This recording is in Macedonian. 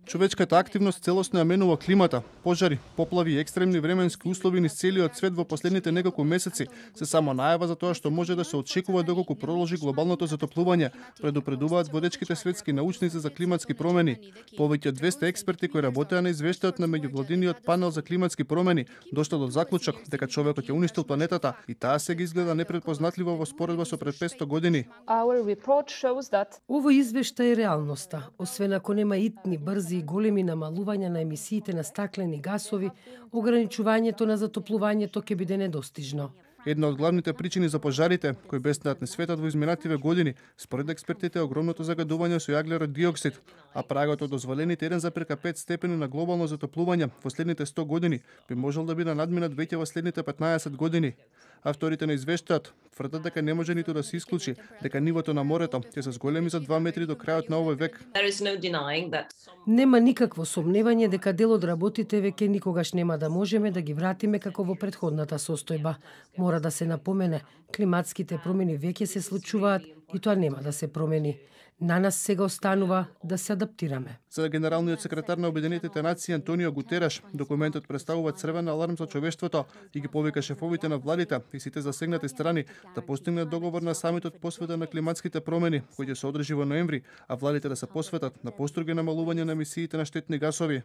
Човечката активност целосно ја менува климата. Пожари, поплави и екстремни временски услови низ целиот свет во последните неколку месеци се само најава за тоа што може да се очекува доколку продолжи глобалното затоплување, предупредуваат водечките светски научници за климатски промени. Повеќе од 200 експерти кои работеа на извештајот на меѓувладиниот панел за климатски промени дошло до заклучок дека човекот ќе уништил планетата и таа сега изгледа непретпознатливо во споредба со пред 500 години. Овој извештај е реалноста. Освен ако нема итни, брзи и големи намалувања на емисиите на стаклени гасови, ограничувањето на затоплувањето ќе биде недостижно. Една од главните причини за пожарите, кои беснеат на светот во изминативе години, според експертите е огромното загадување со јаглерод диоксид, а прагот од дозволените 1,5 степени на глобално затоплување во следните 100 години би можел да биде надминат веќе во следните 15 години. Авторите на извештајот тврдат дека не може ниту да се исклучи дека нивото на морето ќе се зголеми за 2 метри до крајот на овој век. Нема никакво сомневање дека дел од работите веќе никогаш нема да можеме да ги вратиме како во претходната состојба. Мора да се напомене, климатските промени веќе се случуваат и тоа нема да се промени. На нас сега останува да се адаптираме. За генералниот секретар на Обединетите нации Антонио Гутереш, документот представува црвен аларм за човештвото и ги повика шефовите на владите и сите засегнати страни да постигнат договор на самитот посветен на климатските промени, кој ќе се одржи во ноември, а владите да се посветат на построги намалување на емисиите на штетни гасови.